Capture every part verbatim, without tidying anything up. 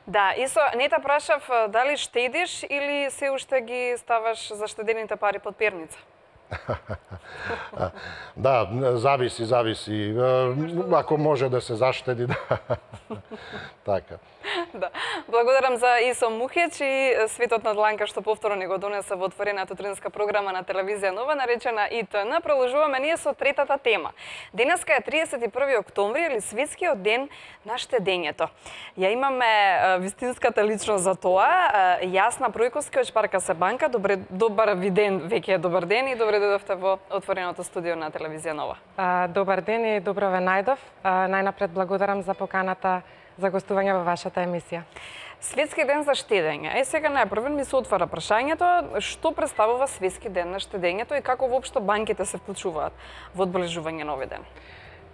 Да, Исо, не те прашав дали штедиш или се уште ги ставаш заштедените пари под перница? Да, зависи, зависи. Ако може да се заштеди, да. Така. Да. Благодарам за Исо Мухич и светот на дланка што повторно ни го донесе во отворената утринска програма на телевизија Нова, наречена И Т Н. Продолжуваме ние со третата тема. Денеска е триесет и први октомври или светскиот ден на штедењето. Ја имаме вистинската личност за тоа, Јасна Пројковски од Шпаркасе банка. Добре, добар ви ден, веќе е добар ден и добре дојдовте во отвореното студио на телевизија Нова. Добар ден и добро ве најдов. Најнапред благодарам за поканата за гостување во вашата емисија. Светски ден за штедење. Е, сега најпрвен ми се отвара прашањето, што представува Светски ден на штедењето и како воопшто банките се вклучуваат во одбележување на овој ден?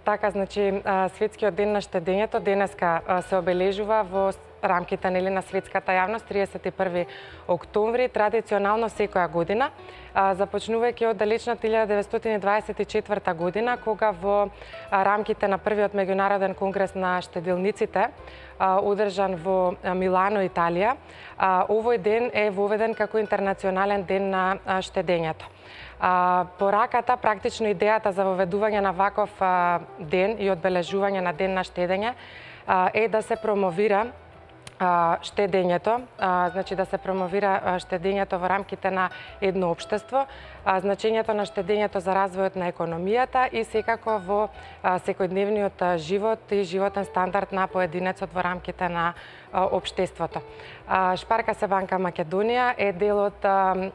Така, значи, Светскиот ден на штедењето денеска се обележува во рамките нели на светската јавност триесет и први октомври, традиционално секоја година, започнувајќи од далечната илјада деветстотини дваесет и четврта година, кога во рамките на првиот меѓународен конгрес на штеделниците, одржан во Милано, Италија, овој ден е воведен како интернационален ден на штедењето. Пораката, практично идејата за воведување на ваков ден и одбележување на ден на штедење е да се промовира штедењето, значи да се промовира штедењето во рамките на едно општество, значењето на штедењето за развојот на економијата и секако во секојдневниот живот и животен стандард на поединецот во рамките на општеството. Шпаркасе банка Македонија е дел од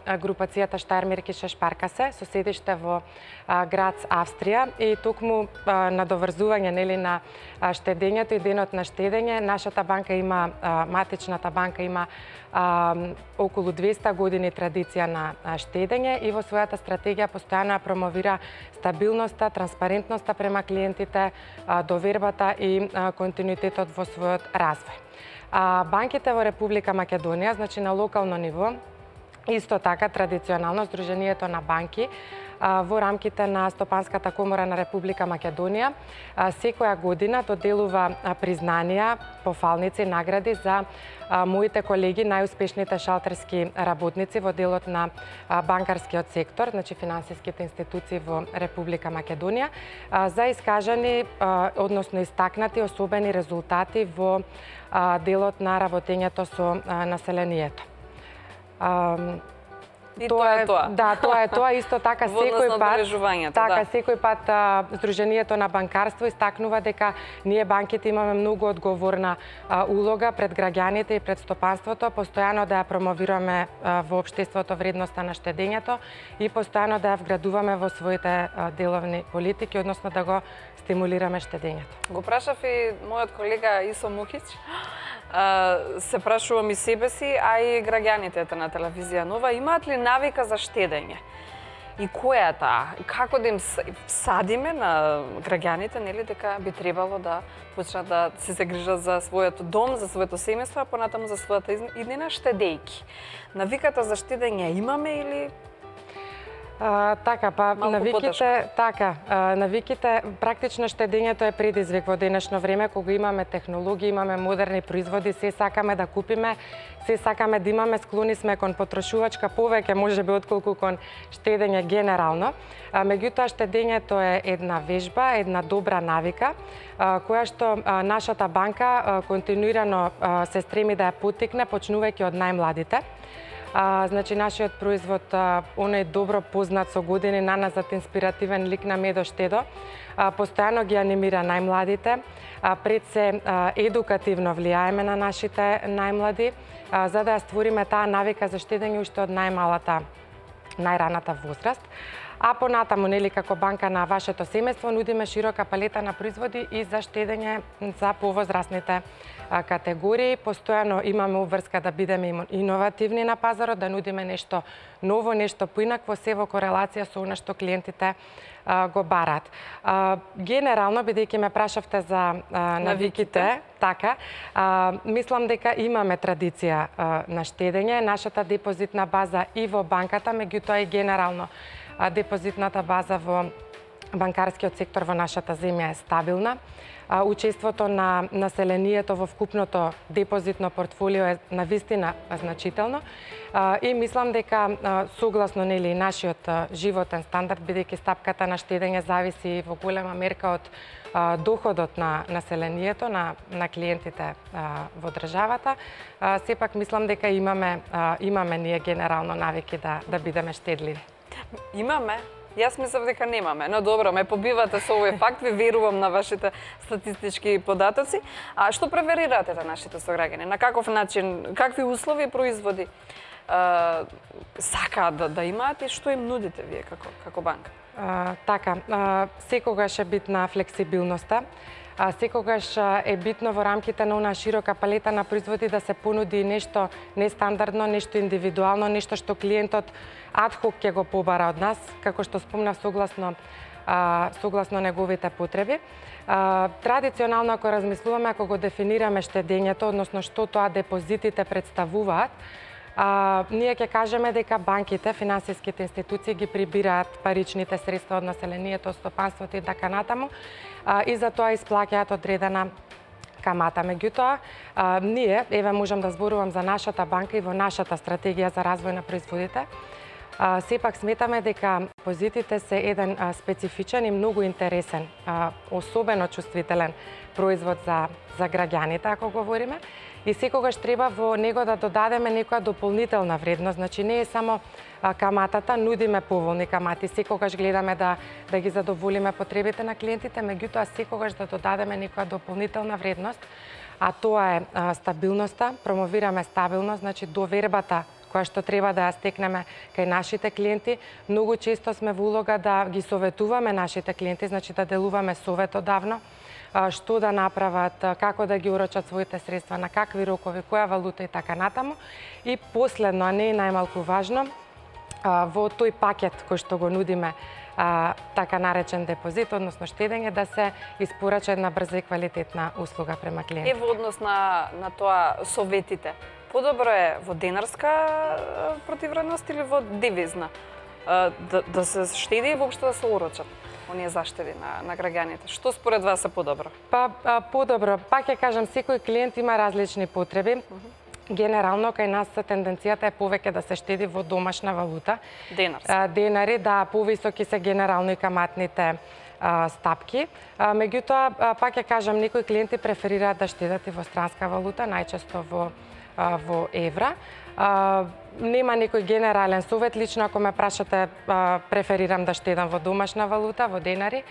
групацијата Штајермеркише Шпаркасе, со седиште во Грац, Австрија, и токму надоврзување нели на штедењето и денот на штедење, нашата банка има, матичната банка има а, околу двесте години традиција на штедење и во својата стратегија постојано ја промовира стабилноста, транспарентноста према клиентите, довербата и континуитетот во својот развој. А, банките во Република Македонија, значи на локално ниво, исто така традиционално Сдруженијето на банки во рамките на Стопанската комора на Република Македонија секоја година доделува признанија, пофалници, награди за моите колеги, најуспешните шалтерски работници во делот на банкарскиот сектор, значи финансиските институции во Република Македонија, за искажани, односно истакнати особени резултати во делот на работењето со населението. И тоа е тоа. Да, тоа е тоа. Исто така секој пат, така да. секој пат а, Сдруженијето на банкарство истакнува дека ние банките имаме многу одговорна а, улога пред граѓаните и пред стопанството, постојано да ја промовираме а, во општеството вредноста на штедењето и постојано да ја вградуваме во своите а, деловни политики, односно да го стимулираме штедењето. Го прашав и мојот колега Исо Мухич. Се прашувам и себе си, а и граѓаните на телевизија Нова, имаат ли навика за штедење? И која е таа? Како да им садиме на граѓаните, нели, дека би требало да почнат да се загрижат за својот дом, за своето семејство, а понатаму за својата иднина штедејки? Навиката за штедење имаме или А, така, па малку навиките, потешко? така, а, навиките, практично штедењето е предизвик во денешно време, кога имаме технологии, имаме модерни производи, се сакаме да купиме, се сакаме да имаме, склони сме кон потрошувачка повеќе, можеби отколку кон штедење генерално. А, меѓутоа штедењето е една вежба, една добра навика, а, која што а, нашата банка а, континуирано а, се стреми да ја поттикне, почнувајќи од најмладите. А, значи, нашиот производ, а, оној добро познат со години, наназад инспиративен лик на Медо Штедо, а, постојано ги анимира најмладите, а, пред се а, едукативно влијаеме на нашите најмлади, а, за да ја створиме таа навика за штедење уште од најмалата, најраната возраст. А понатаму, нели, како банка на вашето семејство, нудиме широка палета на производи и за штедење за повозрастните категории. Постојано имаме обврска да бидеме иновативни на пазарот, да нудиме нешто ново, нешто поинакво, се во корелација со она што клиентите а, го бараат. А, генерално, бидејќи ме прашавте за а, навиките, така, а, мислам дека имаме традиција а, на штедење. Нашата депозитна база и во банката, меѓутоа и генерално депозитната база во банкарскиот сектор во нашата земја е стабилна. а, учеството на населението во вкупното депозитно портфолио е навистина значително. А, и мислам дека а, согласно нели нашиот а, животен стандард, бидејќи стапката на штедење зависи во голема мерка од а, доходот на населението, на, на клиентите а, во државата, а, сепак мислам дека имаме а, имаме ние генерално навики да да бидеме штедливи. Имаме. Јас мислам дека немаме, но добро, ме побивате со овој факт, ви верувам на вашите статистички податоци. А што преферирате на нашите сограѓани? На каков начин, какви услови и производи а, сакаат да, да имаат и што им нудите вие како, како банка? А, така, а, секогаш е битна флексибилноста. А, секогаш е битно во рамките на онаа широка палета на производи да се понуди нешто нестандардно, нешто индивидуално, нешто што клиентот адхок ќе го побара од нас, како што спомнав, согласно а, согласно неговите потреби. А, традиционално, ако размислуваме, ако го дефинираме штедењето, односно што тоа депозитите представуваат, А, ние ќе кажеме дека банките, финансиските институции ги прибираат паричните средства од населението, од стопанството и така натаму, а, и за тоа исплаќаат одредена камата. Меѓутоа, а, ние, еве можам да зборувам за нашата банка и во нашата стратегија за развој на производите, а, сепак сметаме дека депозитите се еден а, специфичен и многу интересен, а, особено чувствителен производ за, за граѓаните, ако говориме. И секогаш треба во него да додадеме некоја дополнителна вредност. Значи не е само а, каматата, нудиме поволни камати, секогаш гледаме да да ги задоволиме потребите на клиентите, меѓутоа секогаш да додадеме некоја дополнителна вредност, а тоа е а, стабилноста, промовираме стабилност, значи довербата која што треба да ја стекнеме кај нашите клиенти. Многу често сме во улога да ги советуваме нашите клиенти, значи да делуваме советодавно, што да направат, како да ги урочат своите средства, на какви рокови, која валута и така натаму. И последно, а не е најмалку важно, во тој пакет кој што го нудиме, така наречен депозит, односно штедење, да се испорача една брза и квалитетна услуга према клиентите. Е во однос на, на тоа советите, подобро е во денарска противвредност или во девизна? Да, да се штеди и воопшто да се урочат оние заштеди на, на граѓаните. Што според вас е подобро? Па, а, подобро. Пак ќе кажам, секој клиент има различни потреби. Uh -huh. Генерално, кај нас тенденцијата е повеќе да се штеди во домашна валута. Денарски. А, денари, да, повисоки се генерално и каматните а, стапки. А, меѓутоа, а, пак ќе кажам, некои клиенти преферираат да штедат и во странска валута, најчесто во, а, во евра. А, нема некој генерален совет, лично ако ме прашате, а, преферирам да штедам во домашна валута, во денари.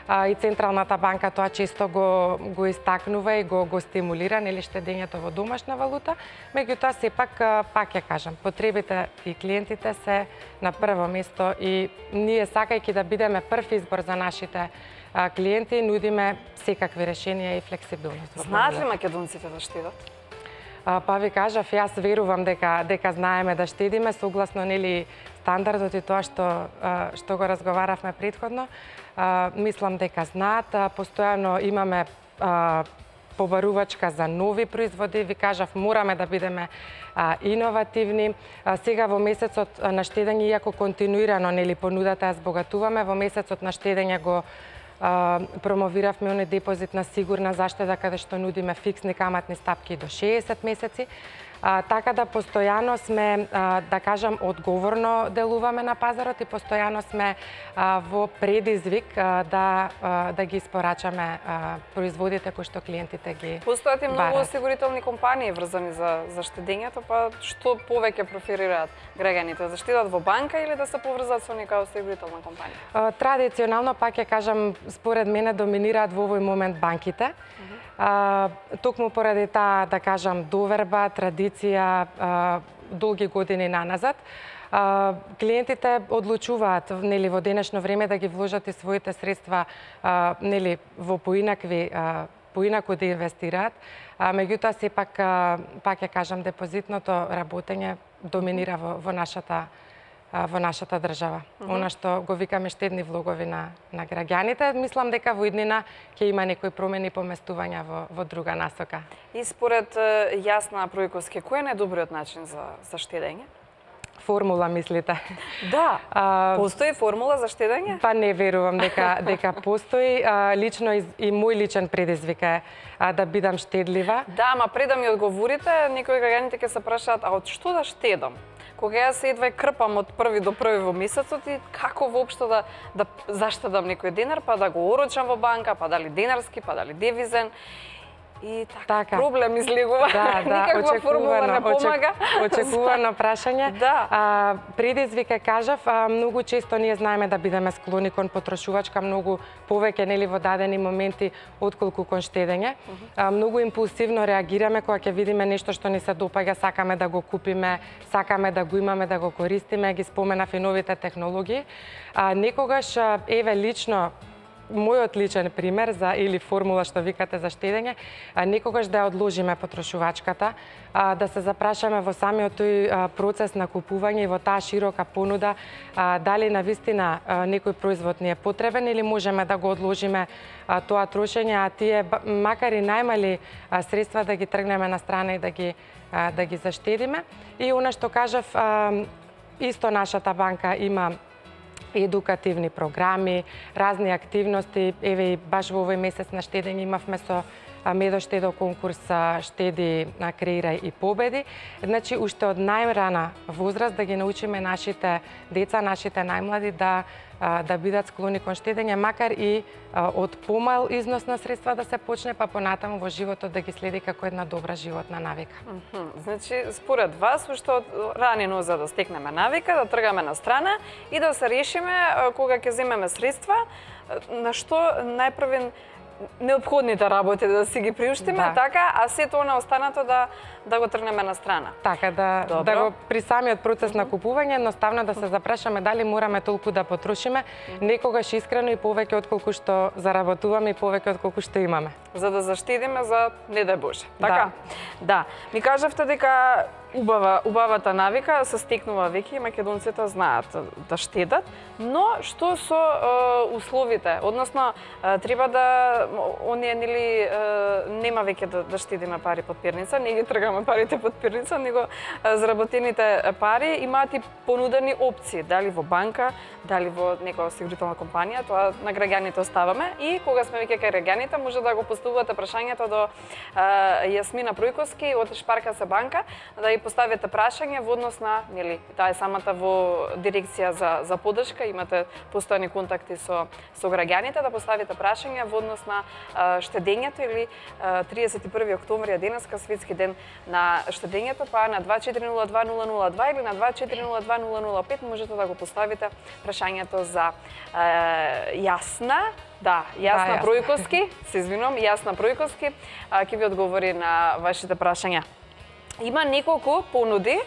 А, и Централната банка тоа често го, го истакнува и го, го стимулира, нели, штедењето во домашна валута. Меѓутоа, сепак, пак ќе кажам, потребите и клиентите се на прво место и ние, сакајќи да бидеме прв избор за нашите а, клиенти, нудиме секакви решенија и флексибилност. Знаат ли македонците да штедат? А, па ви кажав, јас верувам дека дека знаеме да штедиме согласно нели стандардот и тоа што што го разговаравме претходно. А, мислам дека знаат, а, постојано имаме а, побарувачка за нови производи, ви кажав, мораме да бидеме а, иновативни. А, сега во месецот на штедење, иако континуирано нели понудата ја збогатуваме, во месецот на штедење го а, промовиравме оној депозит на сигурна заштеда, каде што нудиме фиксни каматни стапки до шеесет месеци. А, така да постојано сме, а, да кажам, одговорно делуваме на пазарот и постојано сме а, во предизвик а, да, а, да ги испорачаме а, производите кои што клиентите ги Постојат и многу барат. осигурителни компании врзани за, за штедењето, па што повеќе преферираат граѓаните? Да штедат во банка или да се поврзат со нека осигурителна компанија? А, традиционално, пак ќе кажам, според мене доминираат во овој момент банките. А, токму поради таа, да кажам, доверба, традиција, а, долги години наназад, а, клиентите одлучуваат нели во денешно време да ги вложат и своите средства а, нели во поинакви а, поинаку да инвестираат. А, меѓутоа сепак а, пак ќе кажам, депозитното работење доминира во, во нашата во нашата држава. Mm -hmm. Она што го викаме штедни влогови на, на граѓаните, мислам дека во иднина ќе има некои промени и поместувања во, во друга насока. И според Јасна Пројковски, кој е најдобриот начин за, за штедење? формула мислите? Да. А, Постои формула за штедење? Па не верувам дека дека постои. А, лично и, и мој личен предизвик е а, да бидам штедлива. Да, ама пред да ми одговорите, некои граѓаните ќе се прашаат, а од што да штедам? Кога јас се едва крпам од први до први во месецот и како воопшто да да заштедам некој денар, па да го орочам во банка, па дали денарски, па дали девизен. И така, така. Проблем излегува. Да, да, никаква формула не помага. Очекувано прашање. Да. А, предизвик е, кажав, а, многу често ние знаеме да бидеме склони кон потрошувачка, многу повеќе нели во дадени моменти отколку кон штедење. Uh -huh. а, многу импулсивно реагираме кога ќе видиме нешто што ни се допаѓа, сакаме да го купиме, сакаме да го имаме, да го користиме, ги споменав и новите технологии. А, некогаш, еве лично мојот личен пример за или формула што викате за штедење, а, некогаш да ја одложиме потрошувачката, а, да се запрашаме во самиот тој а, процес на купување и во таа широка понуда, а, дали навистина а, некој производ ни е потребен или можеме да го одложиме а, тоа трошење, а тие макар и најмали а, средства да ги тргнеме на страна и да ги а, да ги заштедиме. И она што кажав, а, исто нашата банка има едукативни програми, разни активности. Еве и баш во овој месец на штедење имавме со Медоштедо конкурс Штеди, креирај и победи. Значи, уште од најрана возраст да ги научиме нашите деца, нашите најмлади да да бидат склони кон штедење, макар и од помал износ на средства да се почне, па понатаму во животот да ги следи како една добра животна навика. Mm -hmm. Значи, според вас, уште од рани ноза да стекнеме навика, да тргаме на страна и да се решиме кога ќе земеме средства, на што најпрвен неопходните работи да си ги приуштиме, да. Така, а сето она останато да да го тргнеме на страна. Така, да, да го при самиот процес mm -hmm. на купување, едноставно да се запрашаме дали мораме толку да потрошиме, mm -hmm. некогаш искрено и повеќе отколку што заработуваме и повеќе отколку што имаме. За да заштедиме за не дај Боже. Така? Да. Да. Ми кажавте дека убава убавата навика се стекнува веќе и македонците знаат да штедат, но што со е, условите? Односно, е, треба да оние нели е, нема веќе да, да штедиме пари под перница, не ги тргаме парите под перница, него е, заработените пари имаат и понудени опции, дали во банка, дали во некоја осигурителна компанија, тоа на граѓаните оставаме и кога сме веќе кај граѓаните може да го поставувате прашањето до е, Јасмина Пројковски од Шпарка се банка, да ја поставите прашање во однос на, нели, таа е самата во дирекција за за поддршка, имате постојани контакти со со граѓаните, да поставите прашање во однос на а, штедењето или а, триесет и први октомври е денеска светски ден на штедењето, па на два четири нула два нула нула два или на два четири нула два нула нула пет можете да го поставите прашањето за а, Јасна. Да, Јасна да, Пројковски, се извинувам, Јасна Пројковски, ќе ви одговори на вашите прашања. Има неколку понуди,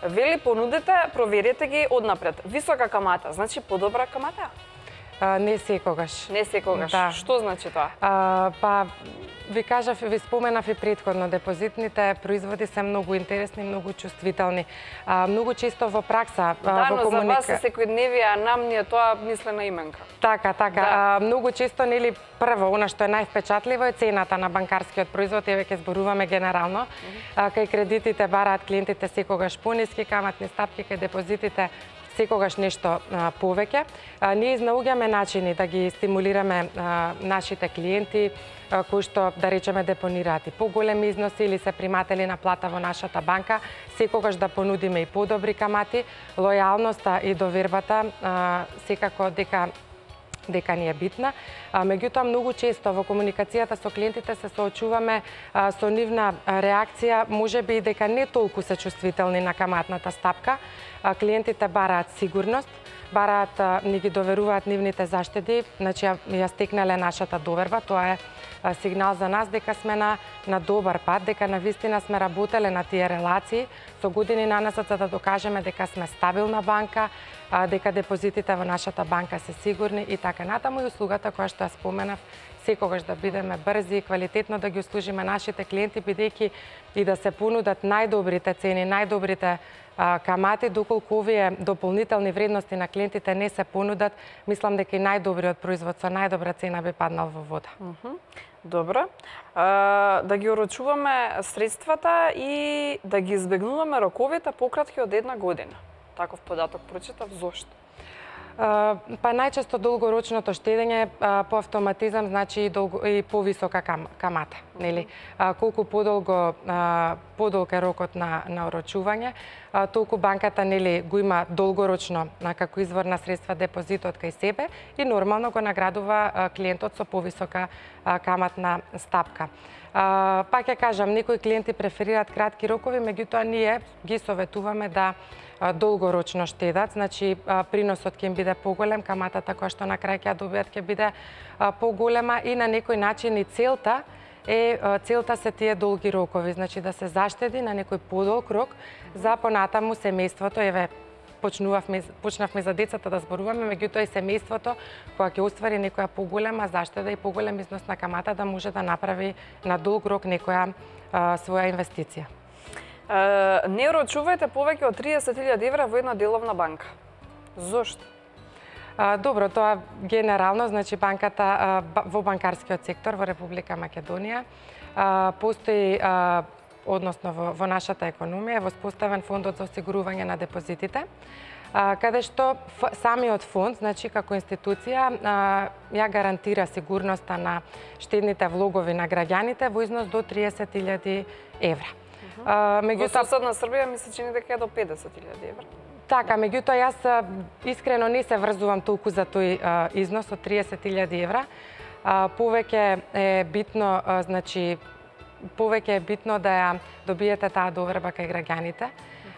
вели понудите, проверете ги однапред. Висока камата, значи подобра камата? А, не секогаш. Не секогаш. Да. Што значи тоа? А, па, ви кажав, ви споменав и предходно, депозитните производи се многу интересни, многу чувствителни. А, многу често во пракса, да, во но комуника... за вас се секојдневие, а нам ни е тоа мислена именка. Така, така. Да. А, многу често, нели, прво, она што е највпечатливо е цената на банкарскиот производ, еве ќе зборуваме генерално. Mm -hmm. а, кај кредитите бараат клиентите секогаш пониски каматни стапки, кај депозитите секогаш нешто а, повеќе. А, ние изнаоѓаме начини да ги стимулираме а, нашите клиенти а, кои што, да речеме, депонираат и поголеми износи или се приматели на плата во нашата банка, секогаш да понудиме и подобри камати, лојалноста и довербата а, секако дека дека ни е битна. А, меѓутоа, многу често во комуникацијата со клиентите се соочуваме а, со нивна реакција, можеби и дека не толку се чувствителни на каматната стапка. А, клиентите бараат сигурност, бараат, а, ни ги доверуваат нивните заштеди, значи ја, ја стекнале нашата доверба, тоа е а, сигнал за нас дека сме на, на добар пат, дека навистина сме работеле на тие релации, со години наназад за да докажеме дека сме стабилна банка, а, дека депозитите во нашата банка се сигурни и така натаму, и услугата која што ја споменав, секогаш да бидеме брзи и квалитетно да ги услужиме нашите клиенти, бидејќи и да се понудат најдобрите цени, најдобрите а, камати, доколку овие дополнителни вредности на клиентите не се понудат, мислам дека и најдобриот производ со најдобра цена би паднал во вода. Mm -hmm. Добро. А, да ги орочуваме средствата и да ги избегнуваме роковите пократки од една година. таков податок прочитав, зошто? Па најчесто долгорочното штедење по автоматизам значи и, долго, и повисока кам, камата, нели? Колку подолго подолг е рокот на на орочување, толку банката нели го има долгорочно како извор на средства депозитот кај себе и нормално го наградува клиентот со повисока каматна стапка. Пак ќе кажам, некои клиенти преферираат кратки рокови, меѓутоа ние ги советуваме да долгорочно штедат, значи приносот ќе им биде поголем, каматата која што на крај ќе ја добијат ќе биде поголема и на некој начин и целта е целта се тие долги рокови, значи да се заштеди на некој подолг рок за понатаму семејството, еве почнувавме почнавме за децата да зборуваме, меѓутоа и семејството кога ќе оствари некоја поголема заштеда и поголем износ на камата да може да направи на долг рок некоја а, своја инвестиција. Uh, не орочувајте повеќе од триесет илјади евра во една деловна банка. Зошто? А, добро, тоа генерално, значи банката а, во банкарскиот сектор во Република Македонија а, постои, а, односно во, во нашата економија, воспоставен фондот за осигурување на депозитите, а, каде што ф, самиот фонд, значи како институција, а, ја гарантира сигурноста на штедните влогови на граѓаните во износ до триесет илјади евра. Uh, меѓутоа, во соседна Србија ми се чини дека е до педесет илјади евра. Така, меѓутоа јас искрено не се врзувам толку за тој а, износ од триесет илјади евра. А, повеќе е битно, а, значи, повеќе е битно да ја добиете таа доверба кај граѓаните,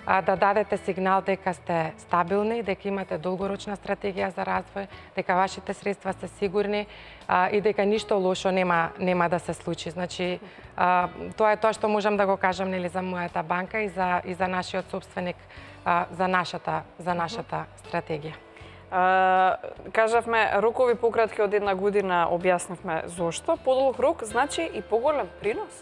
а, да дадете сигнал дека сте стабилни, дека имате долгорочна стратегија за развој, дека вашите средства се сигурни а, и дека ништо лошо нема нема да се случи. Значи, а, тоа е тоа што можам да го кажам нели за мојата банка и за и за нашиот собственик, а, за нашата за нашата стратегија. Uh, кажавме рокови пократки од една година, објаснивме зошто. Подолг рок значи и поголем принос?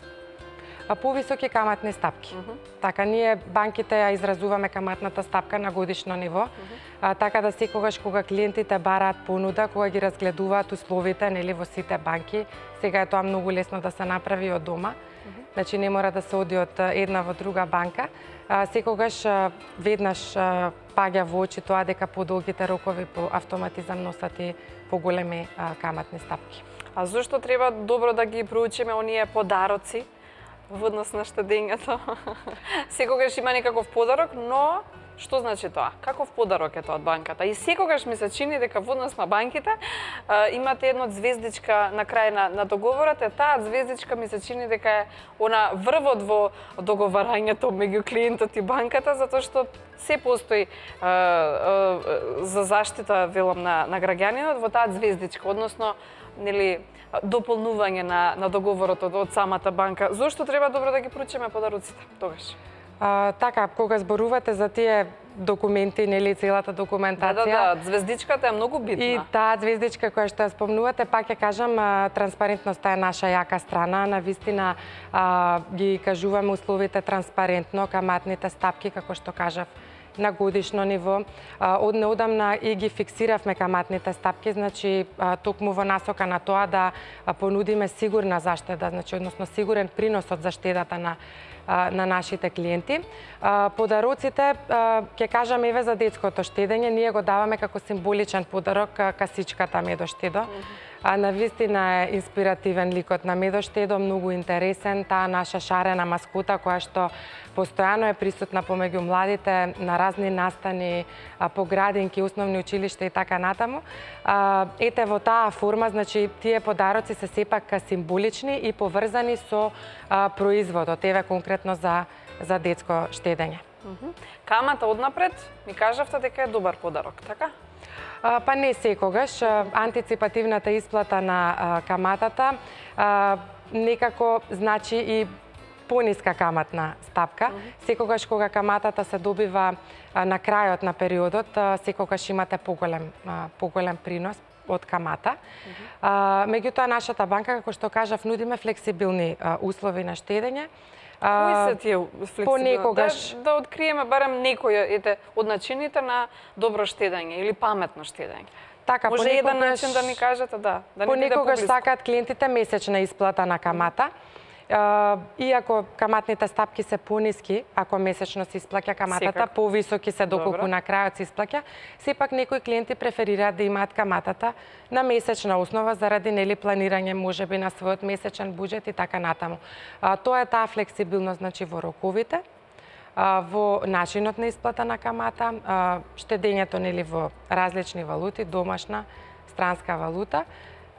А повисоки каматни стапки. Uh -huh. Така, ние банките ја изразуваме каматната стапка на годишно ниво, uh -huh. а, така да секогаш кога клиентите бараат понуда, кога ги разгледуваат условите нели во сите банки, сега е тоа многу лесно да се направи од дома. Uh -huh. Значи не мора да се оди од една во друга банка. А, секогаш а, веднаш а, паѓа во очи тоа дека подолгите рокови по автоматизам носат и поголеми а, каматни стапки. А зошто треба добро да ги проучиме оние подароци во однос на штедењето? Секогаш има некаков подарок, но што значи тоа? Каков подарок е тоа од банката? И секогаш ми се чини дека во однос на банките а, имате едно звездичка на крај на, на договорот, е таа звездичка ми се чини дека е она врвот во договарањето меѓу клиентот и банката, затоа што се постои а, а, за заштита, велам, на, на граѓанинот во таа звездичка, односно нели дополнување на, на договорот од, од самата банка. Зошто треба добро да ги проучиме подароците тогаш? А, така, кога зборувате за тие документи, нели целата документација. Да, да, да, звездичката е многу битна. И таа звездичка која што ја спомнувате, пак ќе кажам, транспарентноста е наша јака страна. Навистина а, ги кажуваме условите транспарентно, каматните стапки, како што кажав, на годишно ниво. Од неодамна и ги фиксиравме каматните стапки, значи токму во насока на тоа да понудиме сигурна заштеда, значи односно сигурен принос од заштедата на на нашите клиенти. Подароците, ќе кажам еве за детското штедење, ние го даваме како символичен подарок касичката Медоштедо. А навистина е инспиративен ликот на Медоштедо, многу интересен, таа наша шарена маскота која што постојано е присутна помеѓу младите на разни настани, по градинки, основни училишта и така натаму. Ете во таа форма, значи тие подароци се сепак символични и поврзани со производот, еве конкретно за за детско штедење. Камата однапред ми кажавте дека е добар подарок, така? А, па не секогаш. Антиципативната исплата на а, каматата а, некако значи и пониска каматна стапка. Mm -hmm. Секогаш кога каматата се добива а, на крајот на периодот, а, секогаш имате поголем, а, поголем принос од камата. Mm -hmm. а, меѓутоа, нашата банка, како што кажав, нудиме флексибилни а, услови на штедење. Кои се тие флексибилни? Понекогаш... Да, да откриеме барем некој ете, од начините на добро штедење или паметно штедење. Така, може понекогаш... еден начин да ни кажете, да. да понекогаш сакаат клиентите месечна исплата на камата. Иако каматните стапки се пониски, ако месечно се исплаќа каматата, Секако. повисоки се доколку Добро. на крајот се исплаќа, сепак некои клиенти преферираат да имаат каматата на месечна основа заради нели планирање можеби на својот месечен буџет и така натаму. А, тоа е таа флексибилност значи во роковите, а, во начинот на исплата на камата, а, штедењето нели во различни валути, домашна, странска валута.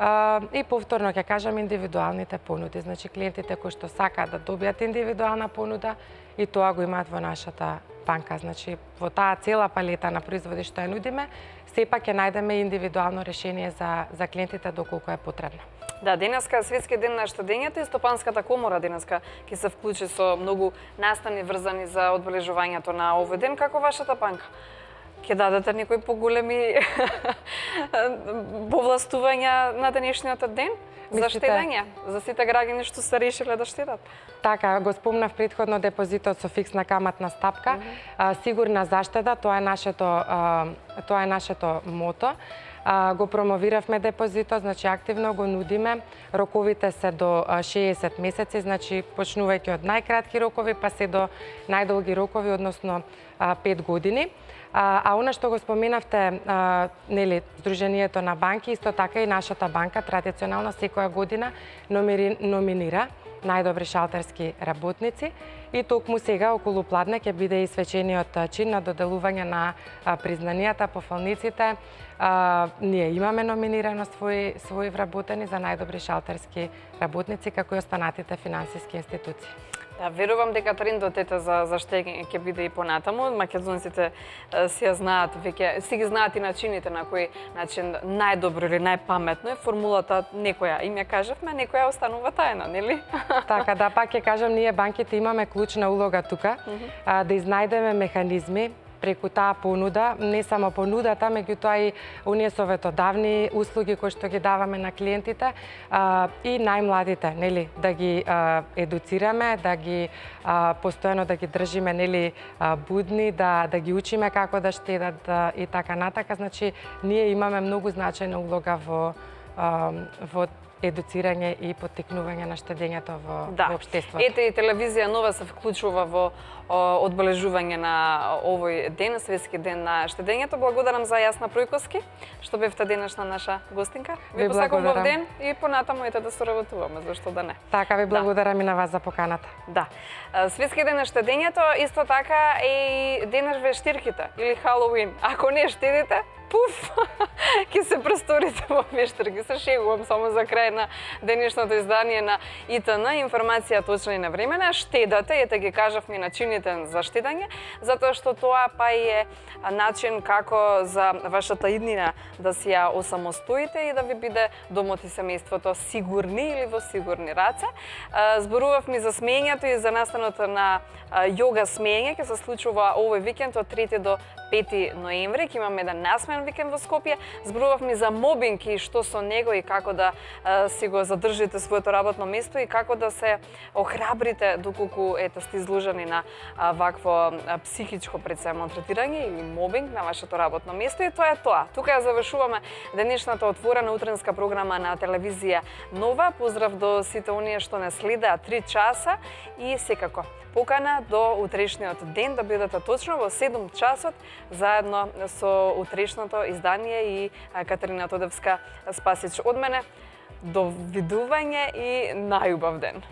Uh, и повторно ќе кажам индивидуалните понуди. Значи клиентите кои што сакаат да добијат индивидуална понуда и тоа го имаат во нашата банка. Значи во таа цела палета на производи што ја нудиме, сепак ќе најдеме индивидуално решение за за клиентите доколку е потребно. Да, денеска е Светски ден на штедењето и Стопанската комора денеска ќе се вклучи со многу настани врзани за одбележувањето на овој ден. Како вашата банка? Ќе дадете некои поголеми повластувања на денешниот ден за штедење, за сите граѓани што се решиле да штедат? Така, го спомнав претходно депозитот со фиксна каматна стапка, mm -hmm. а, сигурна заштеда, тоа е нашето а, тоа е нашето мото. А, го промовиравме депозитот, значи активно го нудиме. Роковите се до шеесет месеци, значи почнувајќи од најкратки рокови па се до најдолги рокови, односно а, пет години. А, а она што го споменавте, а, нели, Сдруженијето на банки, исто така и нашата банка традиционално секоја година номери, номинира најдобри шалтерски работници и токму сега околу пладне ќе биде и свечениот чин на доделување на а, признанијата, пофалниците. А, ние имаме номинирано своји своји вработени за најдобри шалтерски работници, како и останатите финансиски институции. Да, верувам дека трендот за за штедење ќе биде и понатаму. Македонците си ја знаат веќе, си ги знаат и начините на кој начин најдобро или најпаметно е формулата, некоја им ја кажавме, некоја останува тајна, нели? Така, да, пак ќе кажам, ние банките имаме клучна улога тука, mm -hmm. а, да изнајдеме механизми преку таа понуда, не само понудата, меѓутоа и оние советодавни услуги кои што ги даваме на клиентите а, и најмладите, нели, да ги а, едуцираме, да ги а, постојано да ги држиме, нели, а, будни, да да ги учиме како да штедат а, и така натака. Значи, ние имаме многу значајна улога во а, во едуцирање и поттикнување на штедењето во, да. во општеството. Ете и телевизија Нова се вклучува во о, одбележување на овој ден, Светски ден на штедењето. Благодарам за Јасна Пројковски, што бевте денешна наша гостинка. Ви посакувам убав ден и понатаму ете да соработуваме, зашто да не. Така, ви благодарам да. и на вас за поканата. Да. Светски ден на штедењето, исто така и денес вештирките или Халоуин. Ако не штедите, пуф, ќе се престорите во вештирки. Се шегувам само за крај на денешното издание на И Т Н. Информација точна и навремена. Штедате, ете ги кажавме начините за штедање, затоа што тоа па и е начин како за вашата иднина да си ја осамостоите и да ви биде домот и семејството сигурни или во сигурни раце. Зборувавме за смењето и за настанот на јога смење, ќе се случува овој викенд од трети до пети ноември. Ќе имаме еден насмен викенд во Скопје. Зборувавме за мобинг и што со него и како да а, си го задржите своето работно место и како да се охрабрите доколку ете сте изложени на а, вакво а, психичко пред се малтретирање или мобинг на вашето работно место. И тоа е тоа. Тука ја завршуваме денешната отворена утренска програма на телевизија Нова. Поздрав до сите оние што не следеа три часа и секако покана до утрешниот ден да бидете точно во седум часот заедно со утрешното издание и Катерина Тодевска Спасич од мене. До видување и најубав ден.